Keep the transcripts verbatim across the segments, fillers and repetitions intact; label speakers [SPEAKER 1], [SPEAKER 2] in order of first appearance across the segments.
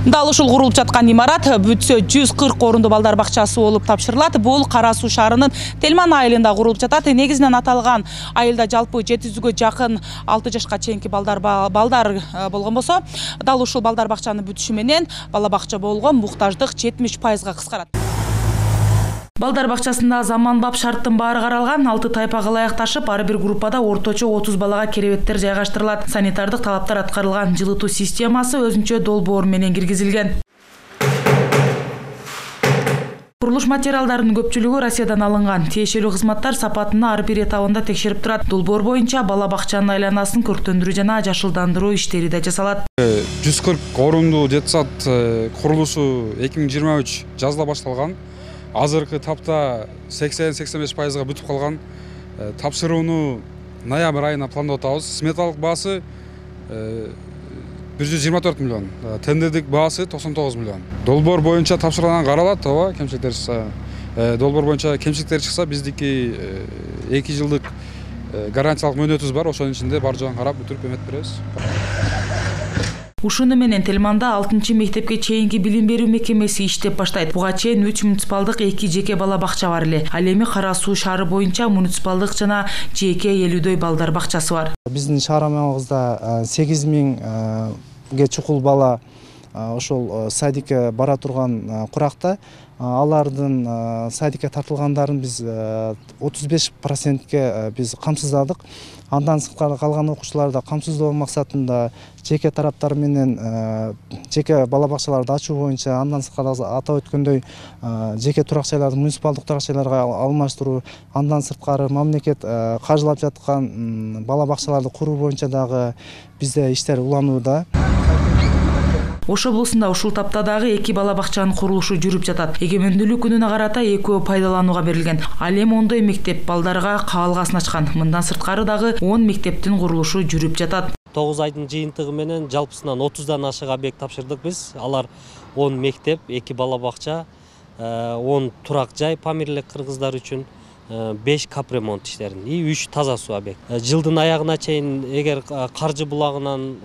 [SPEAKER 1] Дал ушул курулуп жаткан имарат бүтсө жүз кырк орунду балдар бакчасы болуп тапшырылат. Бул Кара Суу шаарынын Телман айылында курулуп жатат. Негизинен аталган айылда жалпы жети жүзгө жакын алты жашка чейинки балдар балдар болгон болсо, дал ушул балдар бакчанын бүтүшү менен бала бакча болгон муктаждык жетимиш пайызга кыскарат. Балдар бакчасында заманбап шарттын баары каралган. Алты тайпага ылайыкташып, ар бир группада орточо отуз балага керебеттер жайгаштырылат. Санитардык талаптар аткарылган. Жылытуу системасы өзүнчө долбоор менен киргизилген. Курулуш материалдарынын көпчүлүгү Россиядан алынган. Тиешелүү кызматтар сапатына ар бир этабында текшерип турат. Долбоор боюнча бала бакчанын айланасын көрктөндүрүү жана жашылдандыруу иштери да жасалат.
[SPEAKER 2] жүз кырк орунду детсад курулушу эки миң жыйырма үч жазда башталган. Азыркы тапта сексен сексен беш пайызга бүтүп калган. Тапшырууну ноябрь айына пландап атабыз. Сметалык баасы бир жүз жыйырма төрт миллион, тендердик баасы токсон тогуз миллион. Долбоор боюнча тапшырылган каралат, ооба, кемчиликтер чыкса. Долбоор боюнча кемчиликтер чыкса, биздики эки жылдык гарантиялык мөөнөтүбүз бар. Ошонун ичинде бар жогун карап бүтүрүп эметип беребиз.
[SPEAKER 1] Ушуну менен Телманда алтынчы мектепке чейинки билим берүү мекемеси иштеп баштайт. Буга чейин үч муниципалдык, эки жеке бала бакча бар эле. Ал эми Кара Суу шаары боюнча муниципалдык жана жеке элүүдөй балдар бакчасы бар.
[SPEAKER 3] Биздин шаарыбызда сегиз миңге чукул бала ошол садикке бара турган куракта. Алардын садикке тартылгандарын биз отуз беш процентке биз камсыздадык. Андан сырткары калган окуучуларды камсыздоо максатында жеке тараптар менен жеке бала бакчаларды ачуу боюнча, андан сырткары атап өткөндөй жеке турак жайларды муниципалдык турак жайларга алмаштыруу, андан сырткары мамлекет каржылап жаткан бала бакчаларды куруу боюнча дагы бизде иштер уланууда.
[SPEAKER 1] Ош облусунда ушул тапта дагы эки бала бакчанын курулушу жүрүп жатат. Эгемендүүлүк күнүнө карата экөө пайдаланууга берилген. Ал эми ондой мектеп балдарга кабылгасын ачкан. Мындан сырткары дагы он мектептин курулушу жүрүп жатат.
[SPEAKER 4] тогуз айдын жыйынтыгы менен жалпысынан отуздан ашык объект тапшырдык биз. Алар он мектеп, эки бала бакча, он турак жай памирлик кыргыздар үчүн, беш капремонт иштерин и үч таза суу объект. Жылдын аягына чейин эгер каржы булагынан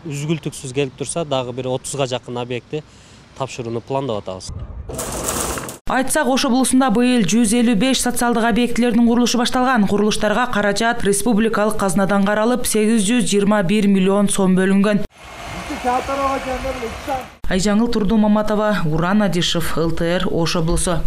[SPEAKER 4] үзгүлтүксүз келип турса, дагы бир отузга жакын объектти тапшырууну пландап атабыз.
[SPEAKER 1] Айтсак, Ош облусунда быйыл жүз элүү беш социалдык объектилердин курулушу башталган. Курулуштарга каражат республикалык казнадан каралып, сегиз жүз жыйырма бир миллион сом бөлүнгөн. Айжаңыл Турду Маматова, Уран Адишев, эл тэ эр, Ош облусу.